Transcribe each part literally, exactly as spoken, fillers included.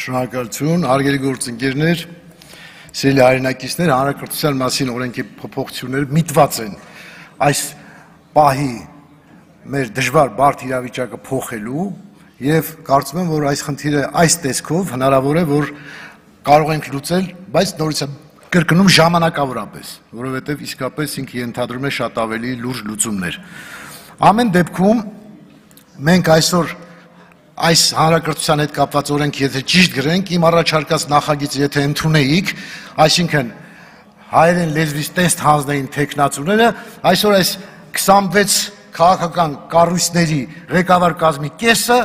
Շնորհակալություն, հարգելի գործընկերներ, սիրելի հայրենակիցներ, հանրակրթության մասին օրենքի փոփոխությունները միտված են այս պահի մեր դժվար բարդ իրավիճակը փոխելու եւ կարծում եմ, որ այս խնդիրը այս տեսքով հնարավոր է, որ կարող ենք լուծել, բայց նորից կրկնում ժամանակավորապես, որովհետեւ իսկապես ինքը ենթադրում է շատ ավելի լուրջ լուծումներ։ Ամեն դեպքում մենք այսօր այս հանրակրթության հետ կապված օրենքը եթե ճիշտ գրենք, իմ առաջարկած նախագիծը եթե ընդունեիք, այսինքն հայերեն լեզվից տեստ հանձնային թեկնածուները այսօր այս քսանվեց քաղաքական կառույցների ղեկավար կազմի կեսը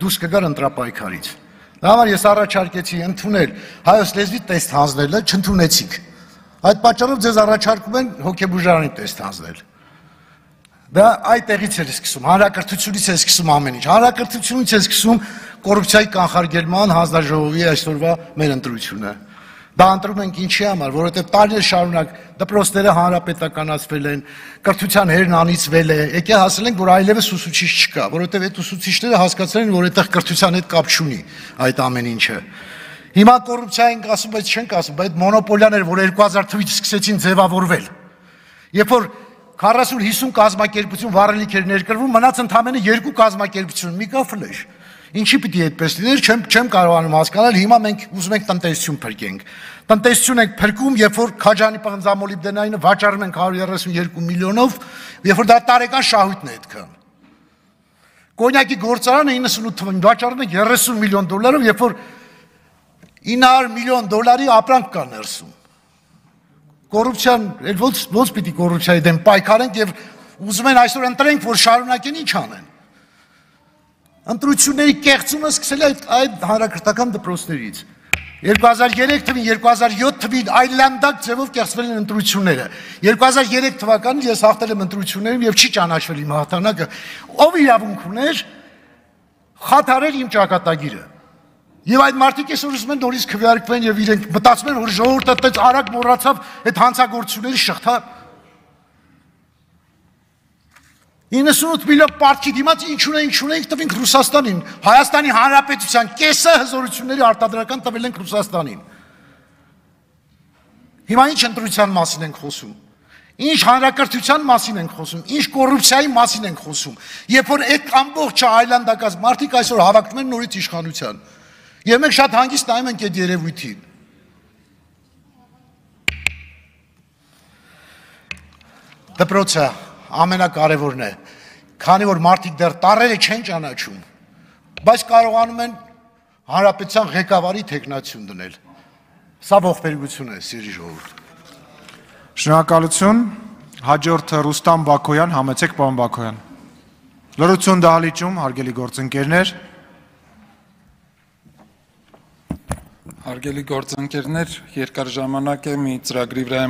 դուրս կգար ընտրապայքարից։ Դա համար ես առաջարկեցի ընդունել հայոց լեզվի տեստ հանձնելը, չընդունեցիք։ Այդ պատճառով ձեզ առաջարկում են հոգեբուժարանի տեստ հանձնել։ Դա այդտեղից է սկսում, հանրակրթությունից է սկսում ամեն ինչ, հանրակրթությունից է սկսում կոռուպցիայի կանխարգելման հանձնաժողովի այսօրվա մեր ընտրությունը։ Դա ընտրում ենք ինչի համար, որովհետև տարիներ շարունակ դպրոցները հանրապետականացվել են, կրթության հերն անիծվել է, եկե հասել ենք, որ այլևս ուսուցիչ չկա, որովհետև այդ ուսուցիչները հասկացել են, որ այդտեղ կրթության հետ կապ չունի այդ ամեն ինչը։ Հիմա կոռուպցիա ենք ասում, բայց չենք ասում, բայց մոնոպոլիաներ, որ երկու հազար թվականից սկսեցին ձևավորվել։ Երբ որ քառասուն հիսուն կազմակերպություն վառելիք էր ներկրվում, մնաց ընդամենը երկու կազմակերպություն, մի կա ֆլեշ։ Ինչի պիտի այդպես լիներ, չեմ չեմ կարողանում հասկանալ, հիմա մենք ուզում ենք տնտեսություն փրկենք։ Տնտեսություն ենք փրկում, երբ որ Քաջանի պղնձամոլիբդենայինը վաճառում ենք հարյուր երեսուն երկու միլիոնով, երբ որ դա տարեկան շահույթն է այդքան։ Կոնյակի գործարանը իննսունութ թվականին վաճառում ենք երեսուն միլիոն դոլարով, երբ որ ինը հարյուր միլիոն դոլարի ապրանք կա ներսում։ Կոռուպցիան, ոնց ոնց պիտի կոռուպցիայի դեմ պայքարենք եւ ուզում են այսօր ընտրենք, որ շարունակեն ինչ անեն։ Ընտրությունների կեղծումը սկսել է այդ հանրակրթական դպրոցներից։ երկու հազար երեք թվականին, երկու հազար յոթ թվականին այլանդակ ձևով կեղծվել են ընտրությունները։ երկու հազար երեք թվականին ես հաղթել եմ ընտրություններում եւ չի ճանաչվել իմ հաղթանակը։ Ով իրավունք ուներ խաթարել իմ ճակատագիրը։ Եվ այդ մարդիկ այսօր ուզում են նորից քվեարկվեն եւ իրենք մտածում են, որ ժողովուրդը այդպես արագ մոռացավ այդ հանցագործությունների շղթա։ իննսունութ միլիոն պարտքի դիմաց ինչ ունենք, ինչ ունենք տվինք Ռուսաստանին, Հայաստանի Հանրապետության կեսը հզորությունների արտադրական տվել ենք Ռուսաստանին։ Հիմա ինչ ընտրության մասին ենք խոսում։ Ինչ հանրակրթության մասին ենք խոսում, ինչ կոռուպցիայի մասին ենք խոսում։ Երբ որ այդ ամբողջ այլանդակած մարդիկ այսօր հավաքվում են նորից իշխանության։ Եվ մենք շատ հանգիստ նայում ենք այդ երևույթին։ Դպրոցը ամենակարևորն է, քանի որ մարդիկ դեռ տառերը չեն ճանաչում, բայց կարողանում են հանրապետության ղեկավարի թեկնածություն դնել։ Սա ողբերգություն է, սիրելի ժողովուրդ։ Շնորհակալություն, հաջորդը Ռուստամ Բաքոյան, համեցեք պարոն Բաքոյան։ Լրություն դահլիճում, հարգելի գործընկերներ։ Հարգելի գործընկերներ, երկար ժամանակ է մի ծրագրի վրա